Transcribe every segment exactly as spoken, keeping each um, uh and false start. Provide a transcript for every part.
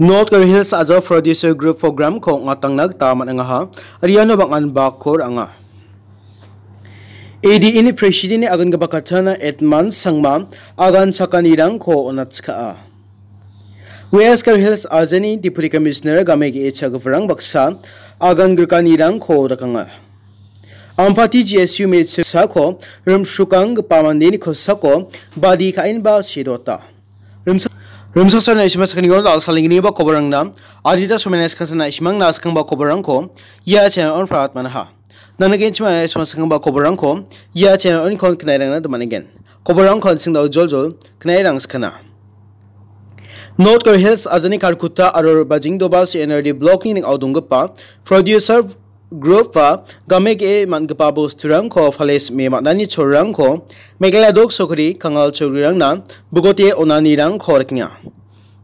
North Garo Hills Ajo Producer Group Program-ko ong·atangna gita man·angaha. Aro iano bang·an bakko ra·anga. A D A-ni President-ni agangipa katana Edmund Sangma agan chakanirangko on·atchkaa. West Garo Hills Ajani Deputy Commissioner game ge·e cha·giparang baksa agan grikanirangko dakanga. Ampati G S U mechiko rimsrukanggipa mandeni kosako badi ka·enba sedota. Rimsa-, rimsaksa na·simang sakgniko dal·salenginiba koborangna adita somena skangsa na·simangna skangba koborangko ia channel-on prat manaha. Nangna genchima na·simang skangba koborangko ia channel-on kon knairangna domanegen. Koborangko an·seng dao joljol knairang skana. North Garo Hills Ajani Kharkutta aro Bajingdoba C N R D Block-ni ning·ao donggipa Producer Group-ba game ge·e man·gipa bosturangko pale sim·e man·ani cholrangko Meghalaya dok sokri Kangal cholgrirangna bogote on·anirangko rikenga.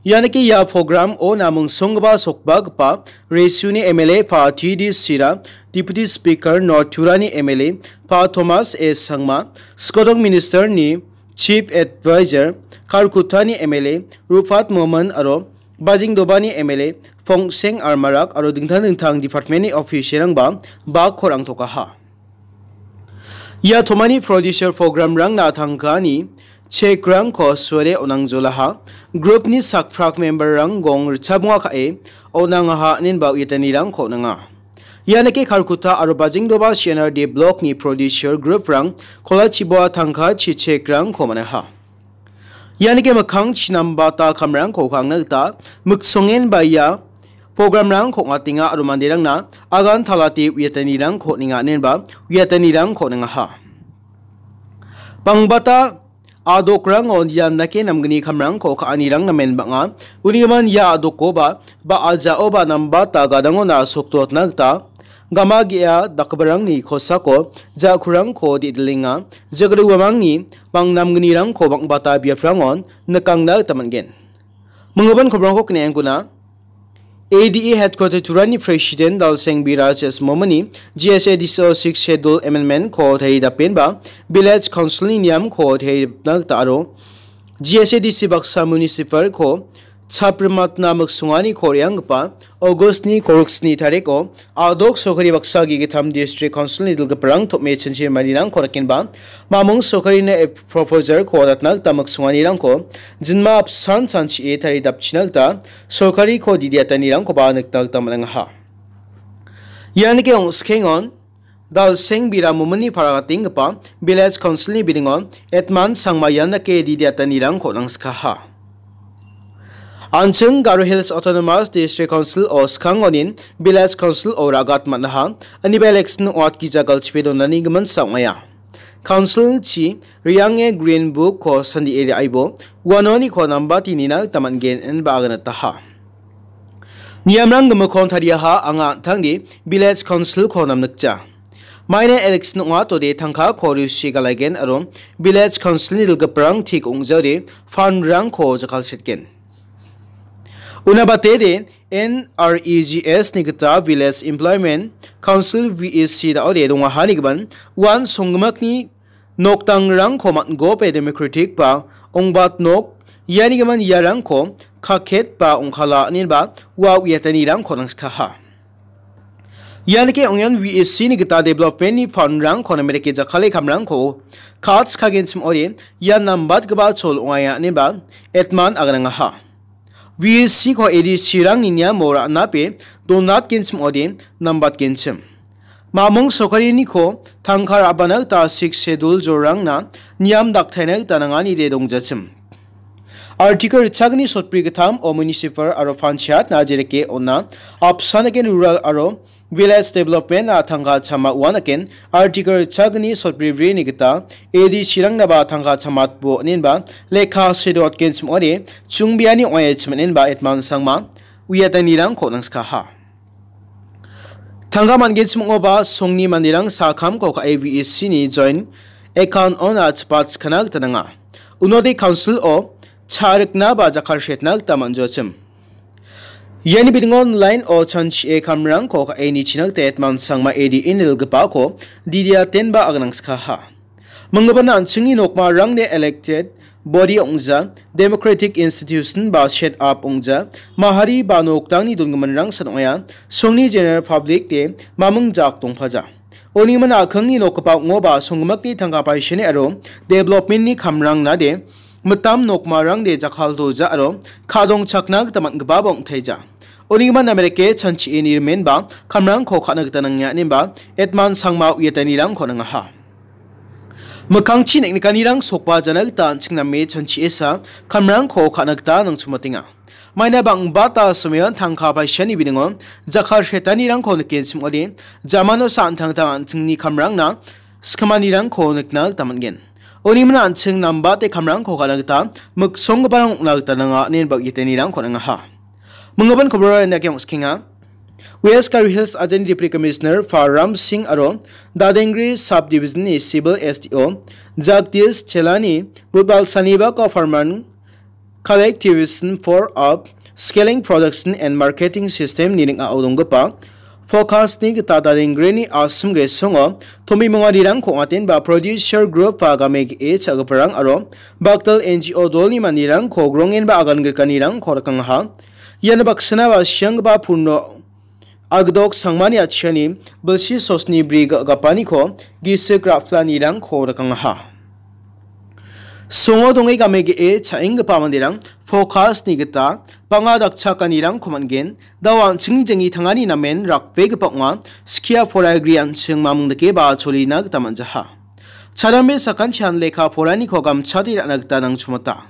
Ianike ia program-o namungsonggipa sokbagipa Resuni M L A pa T D Sira, Deputy Speaker North Turani M L A pa Thomas A Sangma, Skodong Minister-ni Chief Advisor Kharkuttani M L A Rupat Momin aro Bajingdobani M L A Fongseng Armarak aro dingtang dingtang department-ni official-rangba bakko rangtokaha. Ia tomani producer program-rangna tangkani check-rangko suare on·angjolaha. Group-ni sakprak member-rang gong richabonga ka·e on·angaha inenba uiatanirangko on·anga. Ianike Kharkutta aro Bajingdoba C N R D Block-ni producer group-rang kolachiboa tangka chichek-rangko man·aha. Ianike mikkang chinambata kamrangko ka·angna gita miksongen ba ia program-rangko ong·atenga aro manderangna agan talate uiatanirangko on·enga inenba uiatanirangko on·engaha. Bangbata adokrango ian dake namgni kamrangko ka·anirang namen bang·a. Unigimin ia adokoba ba a ja·oba nambata gadangona sokdotna gita gama ge·a dakgiparangni kosako ja·kurangko de·dilenga. Jagri uamangni bang namgnirangko bang·bata biaprangon nikangna gita man·gen. Minggipa kobrangko kne·angkuna. A D A Headquarter Turani President Dalseng Biraj S Momini G S A D C o Sixth Schedule Amendment-ko taridapenba Village Council-ni niamko taridapna gita aro G S A D C baksa municipal-ko chaprimatna miksonganiko re·anggipa August-ni kolgrik sni tariko adok sorkari baksa ge·gittam District Council-ni dilgiparang tom·e chinchir marirangko rakenba mamung sorkarini proposal-ko datna gita miksonganirangko jinma apsan chanchie taridapchina gita sorkariko didiatanirangkoba nikna gita man·angaha. Ianike ongskengon Dalseng Bira Momini paragatenggipa Village Council-ni bidingon Edmund Sangma ian dake didiatanirangko nangskaha. An·ching Garo Hills Autonomous District Council-o skangonin Village Council-o ragat man·aha, aniba election ong·atgija galchipe donani giminsa ong·aia. Council-chi re·ange Green Book-ko sandie re·aibo, uanoniko nambatinina gita man·gen ineba aganataha. Niamrang gimikkon tariaha anga an·tangni Village Council-ko namnikja. Maina election ong·atode tangkako rusie galaigen aro Village Council-ni dilgiparang tik ong·jaode fund-rangko jakkalsetgen. Unabatede N R E G S-ni gita Village Employment Council V E C da·ode dongahanigimin uan songgimikni nokdangrangko man·gope democratic ba ong·bat nok ianigimin iarangko kaket ba ong·kala inenba ua uiatanirangko nangskaha. Ianike ong·ian V E C-ni gita development-ni fund-rangko namerike jakkale kamrangko katskagenchim ong·ode ia nambatgipa chol ong·aia ineba Edmund aganangaha. V E C-ko A D C-rangni niamo ra·nape donatgenchim ong·ode nambatgenchim. Mamung sorkariniko tangka ra·bana gita Sixth Schedule jorangna niam daktaina gita nanganide dongjachim. Article ritchagni sotbri gittam o municipal aro panchayat-na jereke on·a apsan eken rural aro village development-na tangka chama uan eken Article ritchagni sotbribrini gita A D C-rangnaba tangka chamatbo inenba lekha sedotgenchim ong·ode chungbiani ong·aia chim inenba Edmund Sangma uiatanirangko nangskaha. Tangka man·genchim ong·oba songni manderang sakamko ka·e V E C-ni joint account-ona chipat skana gita nanga. Unode council-o cha·rikna ba jakkalsetna gita man·joachim. Iani bidingon line-o chanchie kamrangko ka·e nichina gita Edmund Sangma A D A-ni dilgipako didiatenba aganangskaha. Minggipana an·chingni nokmarangde elected body ong·ja, democratic institution ba set up ong·ja, mahari ba nokdangni dongiminrang san ong·aia, songni general public-de maming jak dongpaja. Unigimin a·kingni nokgipa ong·oba songgimikni tangka paisani aro development-ni kamrangnade mitam nokmarangde jakkaltoja aro ka·dongchakna gita man·gipaba ong·taija. Unigimin Amerike chanchie nimenba kamrangko ka·na gita nangenga inenba Edman Sangma uiatanirangko nangaha. Mikkangchi neng·nikanirang sokbajana gita an·ching name chanchiesa kamrangko ka·na gita nangchumatenga. Maina bang·bata somoion tangka paisani biningo jakkaltoanirangko nikenchim ong·ode, jamano sa an·tangtang an·chingni kamrangna skimanirangko nikna gita man·gen. Unigimin an·ching nambate kamrangko ka·na gita miksonggiparang ong·na gita nanga inenba uiatanirangko nangaha. Minggimin koborara indake ong·skenga. West Garo Hills ajani Deputy Commissioner Faram Singh aro Dadengri Sub-Division-ni Civil S D O Jagdish Chelani budbal sanibako Farman Collectivization for Up Scaling Production and Marketing System-ni ning·ao donggipa Focus-ni gita Dadengreni a·sim gresongo tombimonganirangko ong·atenba producer group-ba game ge·e cha·giparang aro bakdal N G O dolni manderangko grongenba agan grikanirangko rikangaha. Ian baksana ba sianggipa purno agdok sangmani atchiani bilsi sosni bri ga-, gapaniko gisik ra·planirangko rikangaha. Songo donge game ge·e cha·enggipa manderang Focus-ni gita bang·a dakchakanirangko man·gen. Dao an·chingni janggi tangani namen rakbegipa ong·a. Skia poragri an·ching mamung dake ba cholina gita man·jaha. Chadambe sakantian lekka poraniko gamchate ra·na gita nangchumata.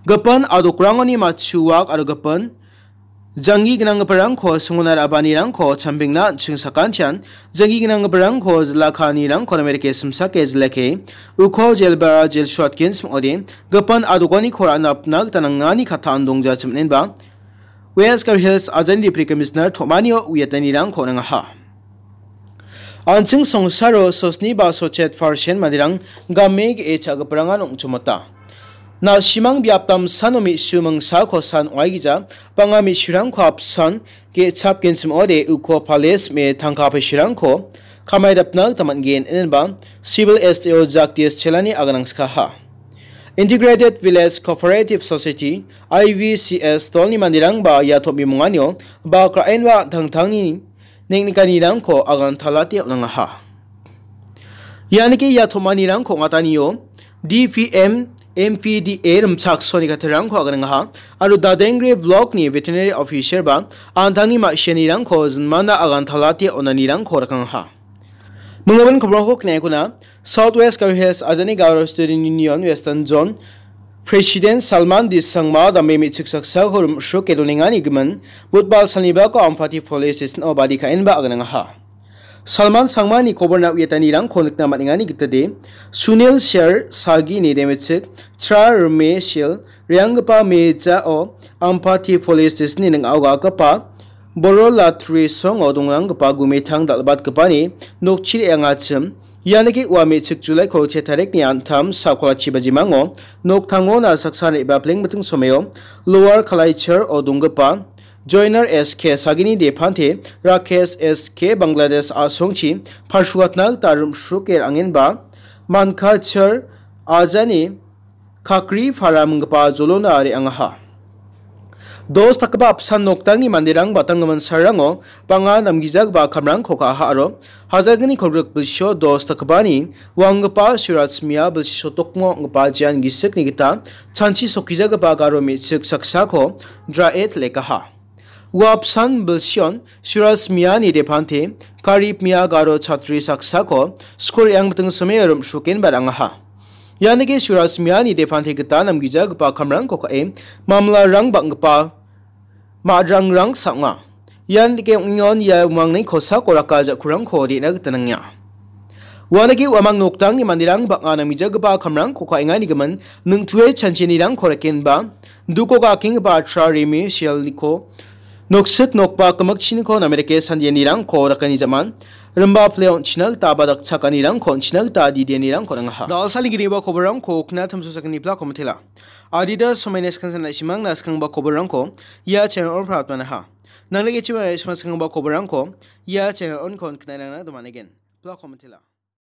Gipin adokrangoni matchuak aro gipin janggi gnanggiparangko songona ra·baanirangko chambengna an·ching sakantian janggi gnanggiparangko jila ka·anirangko namerike simsake jilake uko jelbara jel suatgen sim ong·ode gipin adokaniko ra·napna gita nangani kattaan dongja chiminenba West Garo Hills ajani Deputy Commissioner Tomanio uiatanirangko nangaha. An·ching songsaro sosni ba sochet percent manderang game ge·e cha·giparangan ong·chomota. Na·simang biap damsano me·su mingsako san ong·aigija bang·a me·surangko apsan ge·chapgenchim ong·ode uko pales me tangka paisirangko kamaidapna gita man·gen inenba Civil S D O Jagdish Chelani aganangskaha. Integrated Village Cooperative Society, I V C S, dolni manderangba ia tombimonganio bak ra·enba an·tangtangni neng·nikanirangko agantalate on·angaha. Ianike ia tomanirangko ong·atanio D P M, M P D A rimchaksoani katerangko aganangaha aro Dadengre Block-ni Veterinary Officer ba an·tangni ma·sianirangko jinmana agantalate on·anirangko rikangaha. Minggimin koborangko knaekona, South West Garo Hills ajani Garo Student Union Western Zone President Salman D Sangma dame me·chik saksako rim·sroke donengani gimin, budbal salnibako Ampati Police Station-o badi ka·enba aganangaha. Salman Sangmani koborna uiatanirangko nikna man·engani gitade, Sunil Sher Sagini demechik, Tra Rme Shil, reanggipa mejao Ampati Police Station-ni ning·ao ga·gipa Boro Latri songo dongranggipa gumetang dal·batgipani nokchi re·angachim, ianike ua me·chik Julaiko se tarikni antam sakolachi bajimango noktangona saksa re·bapleng miting someo Lower Kalaichar-o donggipa Joiner S K Sagini Depante Rakesh S K Bangladesh a·songchi parsuatna gita rim·sroke ra·angenba Mankachar ajani Kakri Para minggipa jolona re·angaha. Dos dakgipa apsan noktangni manderang batanggimin sarango bang·a namgijagipa kamrangko ka·aha aro hajalgni kolgrik bilsio dos dakgipani wanggipa Suraj Mia bilsi sotokmo ong·gipa jean gisikni gita chanchi sokijagipa garo me·chik saksako draet lekaha. Ua apsan bilsion Suraj Miani depante Karib Mia garo chatri saksako skul re·angmiting someo rim·srokenba ra·angaha. Ianike Suraj Miani depante gita namgijagipa kamrangko ka·e mamlarang bang·gipa ma·rangrang sa·onga. Ianike ong·engon ia umangni kosako raka ja·kurangko re·na gita nangenga. Uanike uamang noktangni manderang bang·a namgijagipa kamrangko ka·engani gimin ningtue chanchinirangko rekenba duko gakenggipa atra rimi sialniko noksik nokba gimikchiniko namerike sandianirangko dakani ja·man rimba pile on·china gita ba dakchakanirangko on·china gita didianirangko nangaha. Dalsani giniba koborangko kna tamso sakani plako mitela. Adida somaina skansan nasimang naskangba koborangko ia channel on pratmanaha. Nangni gichima nasimang skangba koborangko ia channel on kon kna nangna domanegen. Plako mitela.